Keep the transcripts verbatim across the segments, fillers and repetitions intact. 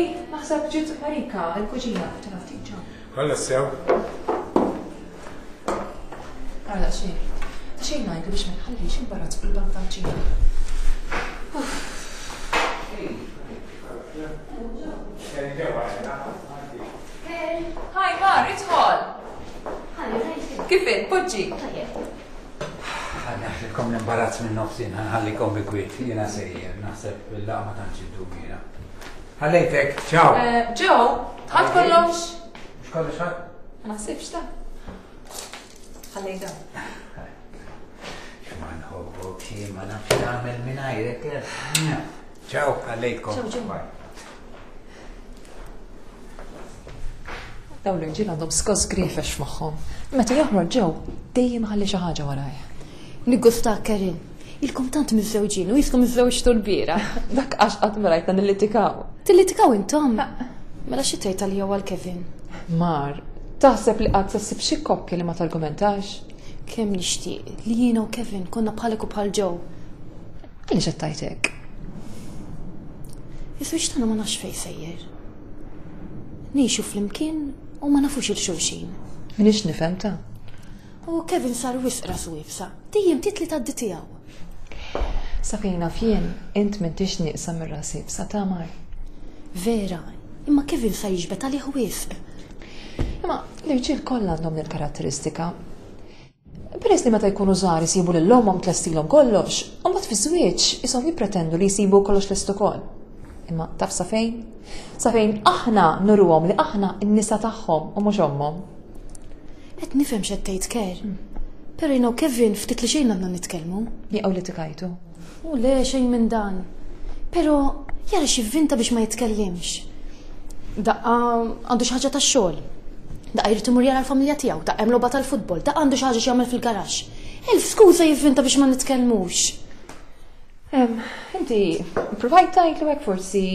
Ej, naħseb ġiet Marika, il-kuġina, tina ftit ġo. Kolla sew. Ara xejn. Ta' xejn ngħidu biex ma nħallix imbarazz fuq il-bank tal-ċina. Hi, Mar, idħol. Kif int, poġġi? Ħa neħilkom l-imbarazz minn nofsin, ħa nħallikom bi kwiet, jiena sejjer, naħseb il-laqgħa ma tantx iddum jiena. Ħallejtek, ciao. Joe, tħadd kollox? Mhux kollox ħadd? Ma naħsibx ta'. Ħallejta. Ma nħobbok xi ma nafx nagħmel mingħajrek. Ciao, ħallejtkom. Ciao, Joe. Bye. Dawn l-irġiel għandhom skoss grifex f'moħħhom. Meta joħroġ Joe, dejjem ħalli xi ħaġa warajh. Niggusta Karin. Ilkom tant miżżewġin u jiskom miżżewġtu l-bira. Dak għax qatt ma rajtna nillitikaw. Tillitikaw intom? Mela xi tgħid għalija għal Kevin? Mar, taħseb li qatt se ssib xi koppja li ma targumentax? Kemm nixtieq li jiena u Kevin konna bħalek u bħal Joe. Għaliex qed tgħid hekk? Iż-żwieġ tagħna ma nafx fejn sejjer. Ngħixu flimkien u ma nafux il xulxin. Minix nifhem ta'. U Kevin sar wisq rasu iebsa, dejjem titli tgħaddi tiegħu. Sa fejn naf jien, int m'intix nieqsa mir-ras iebsa ta' Mar. Vera, imma Kevin sa jiġbed għalih wisq. Imma l-irġiel kollha għandhom din il-karatteristika. Peress li meta jkunu żgħar isibu lil ommhom tlestilhom kollox, u mbagħad fiż-żwieġ ishom jippretendu li jsibu kollox lest ukoll. Imma taf sa fejn? Sa fejn aħna nuruhom li aħna n-nisa tagħhom u mhux ommhom. Qed nifhem x'qed tgħid Ker. Però jiena u Kevin ftit li xejn għandna nitkellmu. Nieqgħu li tikajtu. U le xejn minn dan. Però jara x'ivvinta biex ma jitkellimx. Daqqa għandu xi ħaġa tax-xogħol. Daqqa jrid imur jara l-familja tiegħu, daqqa hemm logħba tal-futbol, daqqa għandu xi ħaġa x'jagħmel fil-garaxx. Elf skuża jivvinta biex ma nitkellmux. Em, Inti provajt tgħidlu hekk forsi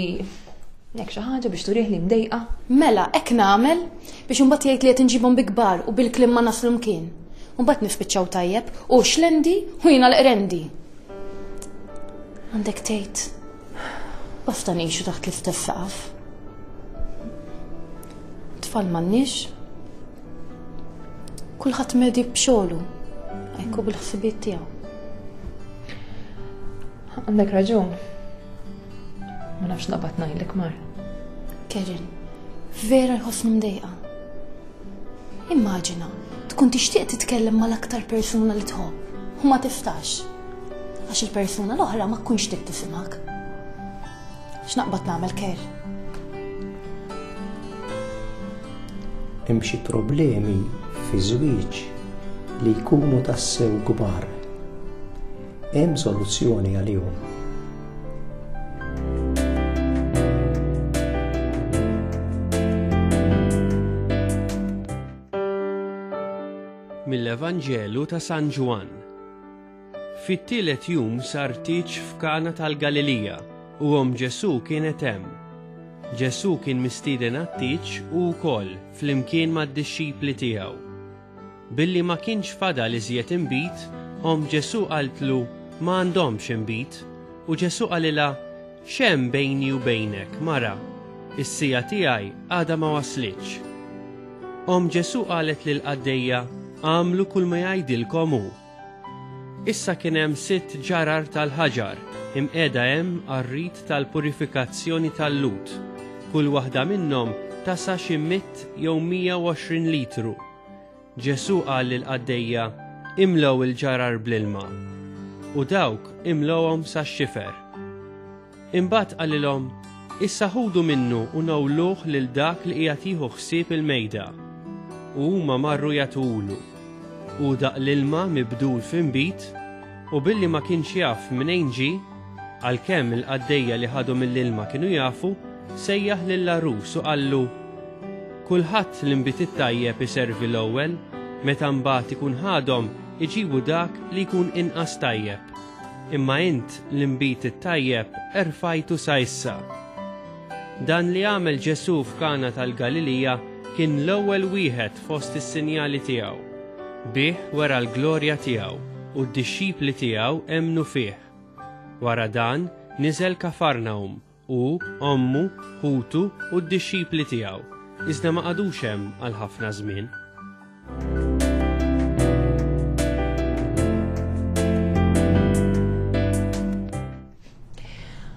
hekk xi ħaġa biex turih li mdejqa. Mela, hekk nagħmel biex imbagħad jgħid li qed inġibhom bi kbar u bil-kliem ma naslu mkien. Imbagħad nispiċċaw tajjeb u xlendi u jiena l-qrendi. Għandek tgħid. Basta ngħixu taħt l-istess saqaf. Tfal m'għandniex. Kulħadd medi b'xogħlu, hekk u bil-ħsibijiet tiegħu. Għandek raġun. Ma nafx naqbad ngħidlek Mar. Karen, vera jħossni mdejqa. Immaġina, tkun tixtieq titkellem mal-aktar persuna li tħobb u ma tistax. Għax il-persuna l-oħra ma tkunx trid tisimgħek. X'naqbad nagħmel Ker? Hemm xi problemi fi żwieġ li jkunu tassew kbar. Hemm soluzzjoni għalihom. Mill-Evanġelu ta' San Ġwann. Fit-tielet jum sar tieġ f'Kana tal-Galilija u omm Ġesù kienet hemm. Ġesù kien mistieden għat-tieġ u wkoll flimkien mad-dixxipli tiegħu. Billi ma kienx fadal iżjed inbid, omm Ġesù qaltlu ma għandhomx inbid, u Ġesù qalilha x'hemm bejni u bejnek, mara, is-sija tiegħi għadha ma waslitx. Omm Ġesù qalet lil qaddejja għamlu kull ma jgħidilkom hu. Issa kien hemm sitt ġarar tal-ħaġar imqiegħda hemm għar-rit tal-purifikazzjoni tal-Lut. Kull waħda minnhom tasa xi mitt jew mija u għoxrin litru. Ġesù qal lil qaddejja imlew il-ġarar bl-ilma. U dawk imlewhom sax-xifer. Imbagħad qalilhom issa ħudu minnu u nawluh lil dak li qiegħed jieħu ħsieb il-mejda. U huma marru jagħtuhulu. U daq l-ilma mibdul f'inbid, u billi ma kienx jaf mnejn ġie, għalkemm il-qaddejja li ħadu mill-ilma kienu jafu, sejjaħ lill-għarus u qallu kulħadd l-inbid it-tajjeb iservi l-ewwel, meta mbagħad ikun ħadhom iġibu dak li jkun inqas tajjeb. Imma int l-inbid it-tajjeb erfajtu sa issa. Dan li għamel Ġesù f'Kana tal-Galilija kien l-ewwel wieħed fost is-sinjali tiegħu. Bih wera l-glorja tiegħu u d-dixxipli tiegħu emmnu fih. Wara dan niżel Kafarnahum hu, ommu, ħutu u d-dixxipli tiegħu, iżda ma qagħdux hemm għal ħafna żmien.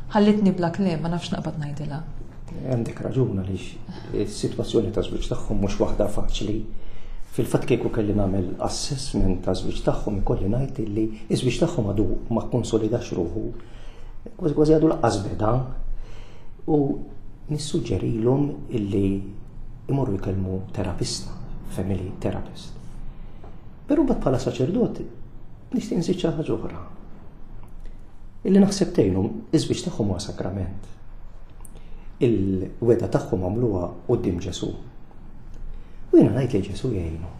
Ħallitni bla kliem, ma nafx naqbad ngħidilha. Għandek raġun għaliex is-sitwazzjoni ta' żwieġ tagħhom mhux waħda faċli. Fil-fatt kieku kelli nagħmel assessment ta' żwieġ tagħhom ikolli ngħid illi ż-żwieġ tagħhom għadu ma kkonsolidax ruħu. Kważi kważi għadu laqqas beda. U nissuġġerilhom illi imorru jkellmu terapista, family therapist. Però mbagħad bħala saċerdot nixtieq nżid xi ħaġa oħra. Illi naħseb tgħinhom iż-żwieġ tagħhom huwa sagrament. Il-weda tagħhom għamluha quddiem Ġesù. U jiena ngħid li Ġesù jgħinu.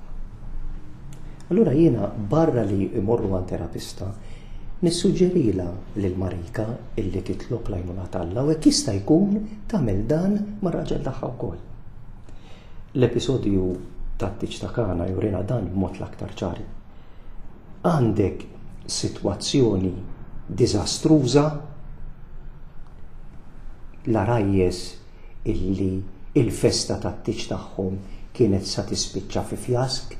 Allura jiena barra li imorru għand terapista, nissuġġerila lil Marika illi titlob l-għajnuna t'Alla u hekk jista' jkun tagħmel dan mar-raġel tagħha wkoll. L-episodju tat-tieġ ta' Kana jurina dan b'mod l-aktar ċar. Għandek sitwazzjoni diżastruża, l-għarajjes illi il-festa tat-tieġ tagħhom kienet sa tispiċċa fi fjask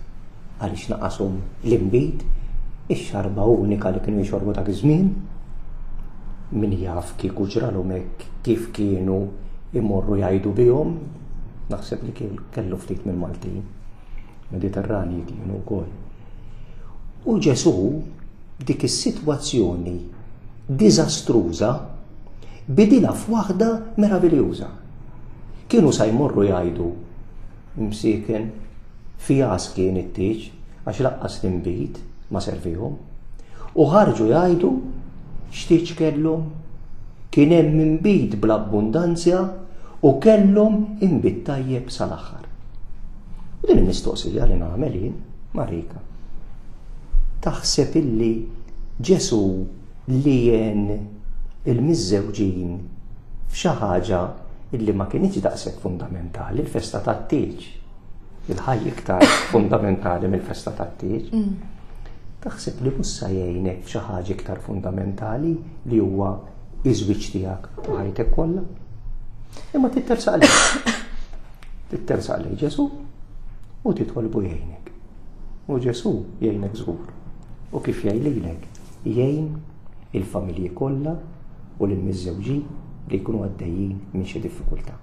għaliex naqashom l-inbid, ix-xarba unika li kienu jxorbu dak iż-żmien. Min jaf kieku ġralhom hekk kif kienu imorru jgħidu bihom, naħseb li kellu ftit mill-Maltin, Mediterranji kienu wkoll. U Ġesù dik is-sitwazzjoni diżastruża bidilha f'waħda meraviljuża. Kienu sa jmorru jgħidu msiken fjask kien it-tieġ għax laqqas l-inbid ma servihom. U ħarġu jgħidu x'tieġ kellhom, kien hemm inbid bl-abbundanzja u kellhom inbid tajjeb sal-aħħar. U din il-mistoqsija li nagħmel jien, Marika. Taħseb illi Ġesù li għen il-miżżewġin f'xi ħaġa illi ma kienx daqshekk fundamentali, il-festa tat-tieġ. Il-ħaj iktar fundamentali mill-festa tat-tieġ. Taħseb li mhux sa jgħinek f'xi ħaġa iktar fundamentali li huwa iż-żwieġ tiegħek u ħajtek kollha? Imma tittersaq lejh. Tittersaq lejh Ġesù u titolbu jgħinek. U Ġesù jgħinek żgur. U kif jgħin lilek? Jgħin il-familji kollha u lill-miżżewġin li jkunu għaddejjin minn xi diffikultà.